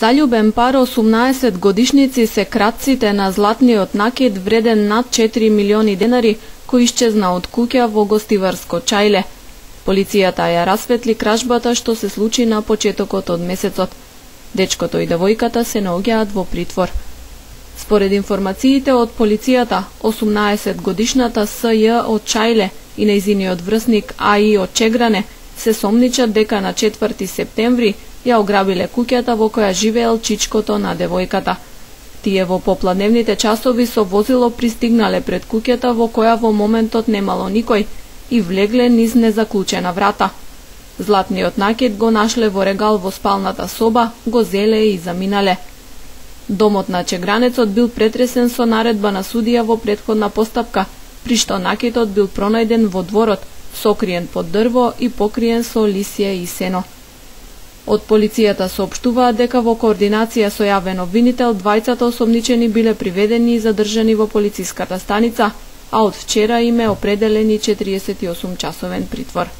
Заљубен пар 18 годишници се кратците на златниот накид вреден над 4 милиони денари кој исчезна од куќа во гостиварско Чајле. Полицијата ја расветли кражбата што се случи на почетокот од месецот. Дечкото и девојката се наоѓаат во притвор. Според информациите од полицијата, 18 годишната С.Ј. од Чајле и нејзиниот врсник А.И. од Чегране се сомничат дека на 4 септември ја ограбиле куќата во која живеел чичкото на девојката. Тие во попладневните часови со возило пристигнале пред куќата во која во моментот немало никој и влегле низ незаклучена врата. Златниот накид го нашле во регал во спалната соба, го зеле и заминале. Домот на чегранецот бил претресен со наредба на судија во претходна постапка, при што накидот бил пронајден во дворот, сокриен под дрво и покриен со лисје и сено. Од полицијата соопштуваат дека во координација со јавен обвинител двајцата осомничени биле приведени и задржани во полициската станица, а од вчера им е определени 48 часовен притвор.